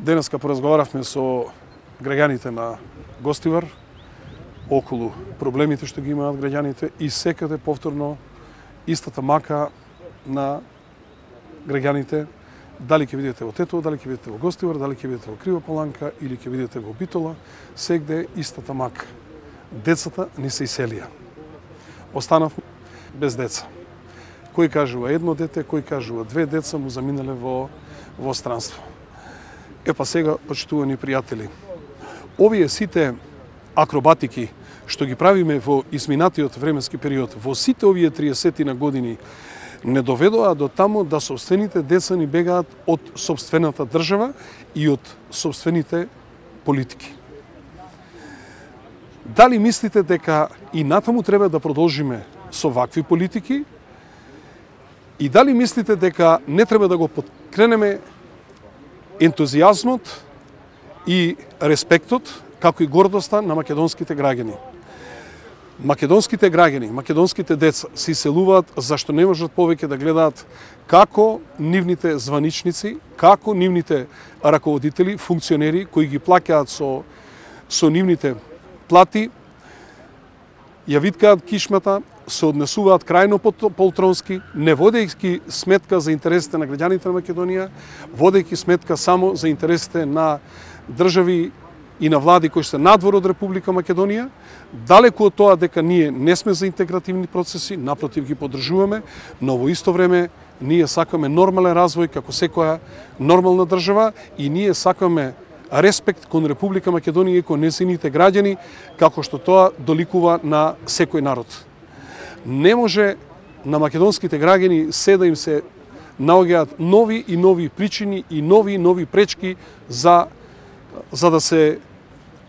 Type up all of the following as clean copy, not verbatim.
Денеска поразговаравме со граѓаните на Гостивар околу проблемите што ги имаат граѓаните и секаде повторно истата мака на граѓаните, дали ќе видите во Тетово, дали ќе видите во Гостивар, дали ќе видите во Крива Поланка или ќе видите во Битола, сегде истата мака. Децата ни се иселија. Останав без деца. Кој кажува едно дете, кој кажува две деца му заминале во странство. Епа сега, почитувани пријатели, овие сите акробатики што ги правиме во изминатиот временски период, во сите овие 30 на години, не доведоа до тамо да собствените деца ни бегаат од собствената држава и од собствените политики. Дали мислите дека и натаму треба да продолжиме со вакви политики? И дали мислите дека не треба да го подкренеме ентузијазмот и респектот, како и гордоста на македонските граѓани? Македонските граѓани, македонските деца се иселуваат зашто не можат повеќе да гледаат како нивните званичници, како нивните раководители, функционери кои ги плаќаат со нивните плати, ја виткаат кишмата, се однесуваат крајно полтронски, не водејќи сметка за интересите на граѓаните на Македонија, водејќи сметка само за интересите на држави и на влади кои се надвор од Република Македонија. Далеку од тоа дека ние не сме за интегративни процеси, напротив ги поддржуваме, но во исто време ние сакаме нормален развој како секоја нормална држава и ние сакаме респект кон Република Македонија и кон нејзините граѓани, како што тоа доликува на секој народ. Не може на македонските граѓани се да им се наоѓаат нови и нови причини и нови пречки за да се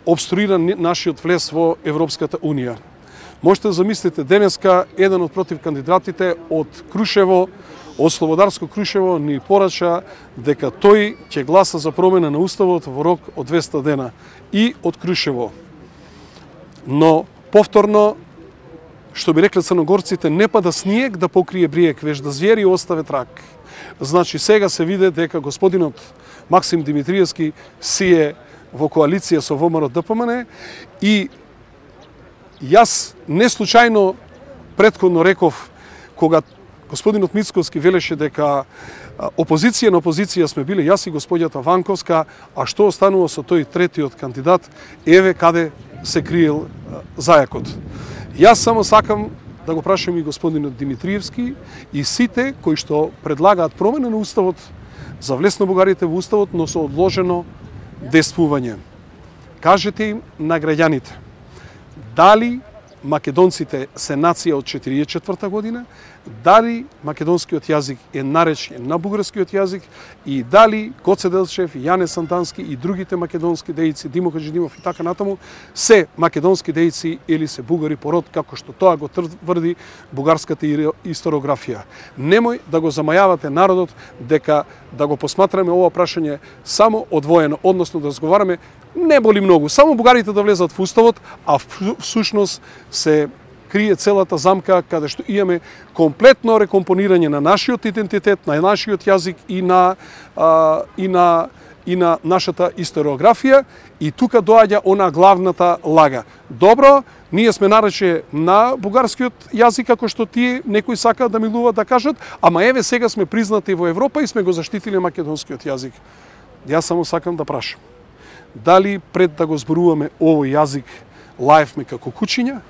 обструира нашиот влез во Европската Унија. Можете да замислите, денеска еден од против кандидатите од Крушево, од Слободарско Крушево, ни порача дека тој ќе гласа за промена на Уставот во рок од 200 дена и од Крушево. Но повторно, што би рекле црногорците, не пада снег да покрие бриек, веж да звери оставе трак. Значи сега се виде дека господинот Максим Димитриевски си е во коалиција со ВМРО ДПМН и јас не случајно претходно реков кога господинот Мицковски велеше дека опозиција на опозиција сме биле јас и господјата Ванковска, а што останува со тој третиот кандидат, еве каде се криел зајакот. Јас само сакам да го прашам и господинот Димитриевски и сите кои што предлагаат промена на Уставот за влез на бугарите во Уставот, но со одложено действување. Кажете им на граѓаните, дали македонците се нација од 1944 година, дали македонскиот јазик е наречен на бугарскиот јазик и дали Гоце Делчев, Јане Сантански и другите македонски дејци, Димо Хаџидимов и така натаму, се македонски дејци или се бугари по род, како што тоа го тврди бугарската историографија. Немој да го замајавате народот дека да го посматраме ова прашање само одвоено, односно да разговараме не боли многу, само бугарите да влезат во Уставот, а всушност се крие целата замка каде што имаме комплетно рекомпонирање на нашиот идентитет, на нашиот јазик и на нашата историографија и тука доаѓа она главната лага. Добро, ние сме нарече на бугарскиот јазик како што тие некои сакаат да милуваат да кажат, ама еве сега сме признати во Европа и сме го заштитиле македонскиот јазик. Јас само сакам да прашам. Дали пред да го зборуваме овој јазик лаевме како кучиња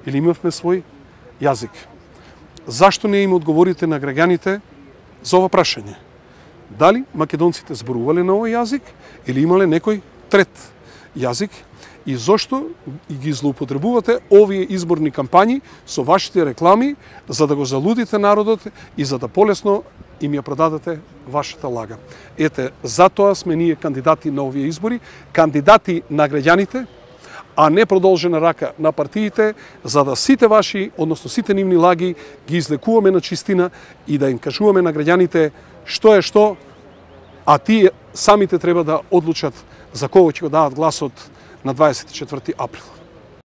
или имавме свој јазик? Зашто не им одговорите на граѓаните за ова прашање? Дали македонците зборувале на овој јазик или имале некој трет јазик? И зошто ги злоупотребувате овие изборни кампањи со вашите реклами за да го залудите народот и за да полесно им ја продадете вашата лага? Ете, затоа сме ние кандидати на овие избори, кандидати на граѓаните, а не продолжена рака на партиите, за да сите ваши, односно сите нивни лаги ги излекуваме на чистина и да им кажуваме на граѓаните што е што, а тие самите треба да одлучат за кого ќе го дадат гласот на 24 април.